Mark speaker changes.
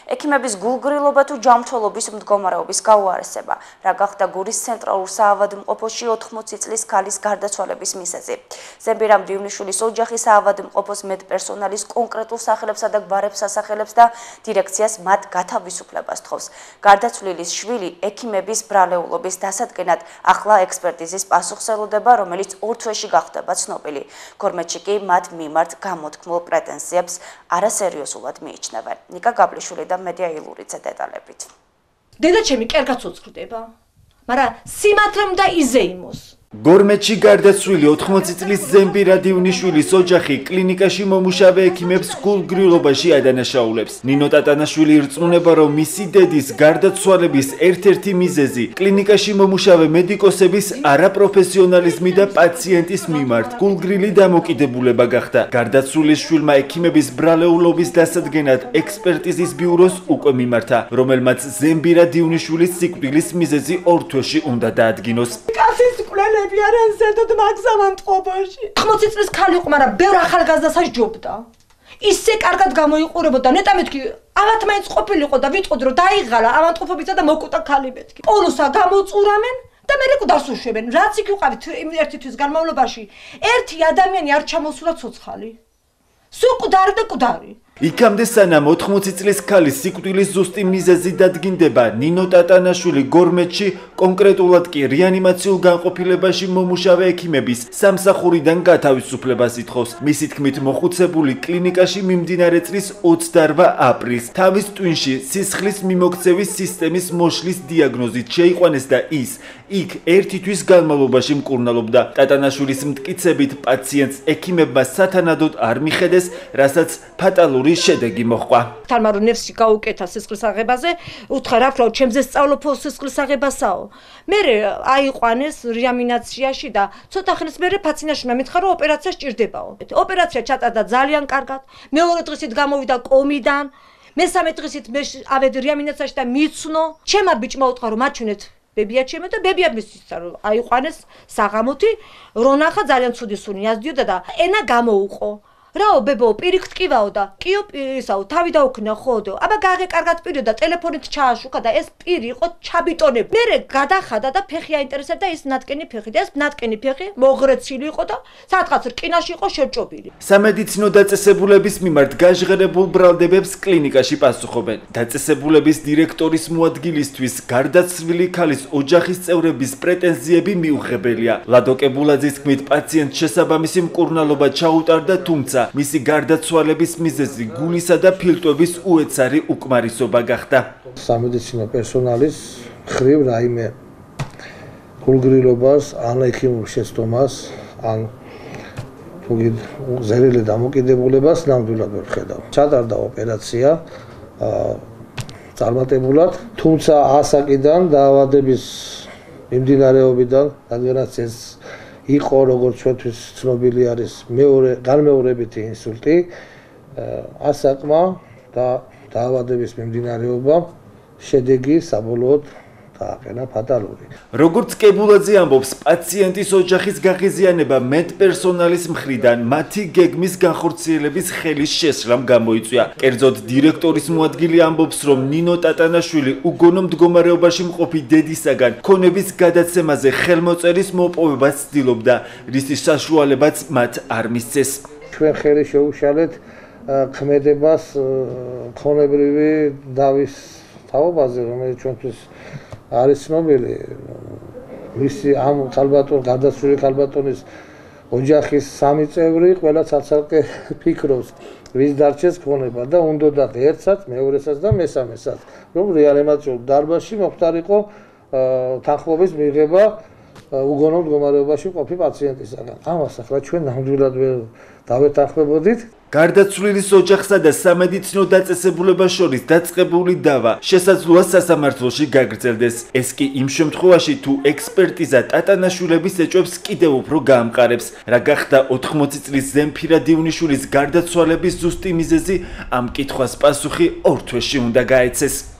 Speaker 1: ექიმების გულგრილობა თუ ჯანმრთელობის მდგომარეობის გაუარესება, რა გახდა გურის ცენტრალურ საავადმყოფოში 80 წლის ქალის გარდაცვალების მიზეზი. ზემბირა მდივნიშვილის ოჯახი საავადმყოფოს მედპერსონალის კონკრეტულ სახელებსა და გვარებს ასახელებს და დირექციას მათ გათავისუფლებას თხოვს. გარდაცვლილის შვილი ექიმების ბრალეულობის დასადგენად ახლა ექსპერტიზის პასუხს ელოდება, რომელიც 2 თვეში გახდება ცნობილი. გორმეთში კი მათ მიმართ გამოთქმულ პრეტენზიებს არასერიოზულად მიიჩნევენ. ნიკა გაბლიშვილი და მედია ილურიძე დეტალებით.
Speaker 2: დედაჩემი კერგაც უწყდება, მაგრამ სიმართლე უნდა იზეიმოს.
Speaker 3: გორმეთში გარდაცვლილი 80 წლის ზემბირა დივნიშვილის ოჯახი კლინიკაში მომუშავე ექიმებს გულგრილობაში ადანაშაულებს. ნინო ტატანაშვილი ირწმუნება, რომ მისი დედის გარდაცვალების ერთ-ერთი მიზეზი კლინიკაში მომუშავე მედიკოსების არაპროფესიონალიზმი და პაციენტის მიმართ გულგრილი დამოკიდებულება გახდა. გარდაცვლილის შვილმა ექიმების ბრალეულობის დასადგენად ექსპერტიზის ბიუროს უკვე მიმართა, რომელმაც ზემბირა დივნიშვილის სიკვდილის მიზეზი 2 თვეში უნდა დაადგინოს.
Speaker 2: არიან ზედოთ მაგზავან ტყობაში. 80 წლის ქალი იყო, მაგრამ ბევრ ახალგაზრდას ჯობდა. ისე კარგად გამოიყურებოდა, ნეტა მეთქი, ავათ მაინც ყოფილიყო და ვიტყოდ რომ დაიღალა ავანტყოფობისა და მოკუტა ქალი მეთქი. პოლოსა გამოწურავენ და მე რეკო დასუშვებენ. რაც იქ ვიყავით ერთი თვის განმავლობაში, ერთი ადამიანი არ ჩამოსულა ცოცხალი. სულ კუდარი და კუდარი.
Speaker 3: იქამდე სანამ 80 წლის ქალის სიკვდილის ზუსტი მიზეზი დადგინდება, ნინო ტატანაშვილი გორმეთში, კონკრეტულად კი რეანიმაციულ განყოფილებაში მომუშავე ექიმების სამსახურიდან გათავისუფლებას ითხოვს. მისი თქმით, მოხუცებული კლინიკაში მიმდინარე წლის 28 აპრილს თავის ტვინში სისხლის მიმოქცევის სისტემის მოშლის დიაგნოზით შეიყვანეს და ის იქ 1 თვის განმავლობაში მკურნალობდა. ტატანაშვილის მტკიცებით, პაციენტს ექიმებმა სათანადოდ არ მიხედეს, რასაც ფატალური შედეგი მოჰყვა.
Speaker 2: თალმა რომ ნერსი გაუკეთა სისხლის აღებაზე, უთხრა რა ვთქვა, ჩემზე სწავლობ სისხლის აღებასაო. მე აიყვანეს რეანიმაციაში და ცოტა ხნის მერე ფაცინაშვილმა მითხრა რომ ოპერაცია სჭირდებაო. ოპერაცია ჩატარდა ძალიან კარგად. მეორე დღისით გამოვიდა კომიდან, მესამე დღისით მე ავედი რეანიმაციაში და მიცნო. ჩემმა ბიჭმა უთხრა რომ მაჩვენეთ ბებია ჩემო და ბებია მისცა რომ აიყვანეს საღამოთი, რონახა ძალიან ცუდი სუნი ასდიოდა და ენა გამოუყო. რაო ბებო პირიქ ტკივაო და კიო პირისაო თავი დაუქნა ხოდო აბა გაღე კარგად პირო და ტელეფონით ჩააშუქა და ეს პირი იყო ჩაბიტონები მერე გადახადა და ფეხი აინტერესებდა ის ნატკენი ფეხი და ეს ნატკენი ფეხი მოღრეცილი იყო და სადღაც რკინაში იყო შეჭობილი.
Speaker 3: სამედიცინო დაწესებულების მიმართ გაჟღერებულ ბრალდებებს კლინიკაში პასუხობენ. დაწესებულების დირექტორის მოადგილისთვის გარდაცვლილი ქალის ოჯახის წევრების პრეტენზიები მიუღებელია. ლადოკე ბულაძის თქმით, პაციენტს შესაბამისი მკურნალობა ჩაუტარდა, თუმცა მისი გარდაცვალების მიზეზი გულისა და ფილტვების უეცარი უკმარისობა გახდა.
Speaker 4: სამედიცინო პერსონალის ხრივ რაიმე გულგრილობას ან ექიმურ შეცდომას ან ზერილი დამოკიდებულებას ნამდვილად ვერ ხედავ. ჩატარდა ოპერაცია წარმატებულად, თუმცა ასაკიდან დაავადების მიმდინარეობიდან, რადგანაც ეს იყო როგორც ჩვენთვის ცნობილი არის განმეორებითი ინსულტი, ასაკმა და დაავადების მიმდინარეობამ შედეგი საბოლოოდ დააყენა ფატალური.
Speaker 3: როგორც კებულაძე ამბობს, პაციენტის ოჯახის გაღიზიანება მედპერსონალის მხრიდან მათი გეგმის განხორციელების ხელის შესრამ გამოიწვია. კერძოდ დირექტორის მოადგილე ამბობს, რომ ნინო ტატანაშვილი უგონო მდგომარეობაში მყოფი დედისაგან ქონების გადაცემაზე ხელმოწერის მოპოვებას ცდილობდა, რის საშუალებაც მათ არ მისცეს.
Speaker 4: ჩვენ ხელი შეუშალეთ ქმედებას ქონებრივი დავის თაობაზე, რომელიც ჩვენთვის არის ცნობილი. მისი ამ გარდაცვლილი ქალბატონის ოჯახის 3 წევრი ყველა ცალ-ცალკე ფიქრობს, ვის დარჩეს ქონება და უნდათ ერთსაც, მეორესაც და მესამესაც, რომ რეანიმაციულ დარბაზში მოხდარიყო თანხმობის მიღება უგონო მდგომარეობაში მყოფი პაციენტისაგან. ამას ახლა ჩვენ ნამდვილად დავეთანხმებოდით.
Speaker 3: გარდაცვლილის ოჯახსა და სამედიცინო დაწესებულებას შორის დაწყებული დავა შესაძლოა სასამართლოში გაგრძელდეს. ეს კი იმ შემთხვევაში, თუ ექსპერტიზა ტატანაშვილების ეჭვებს კიდევ უფრო გაამყარებს. რა გახდა 80 წლის ზემფირა დივნიშვილის გარდაცვალების ზუსტი მიზეზი, ამ კითხვას პასუხი 2 თვეში უნდა გაეცეს.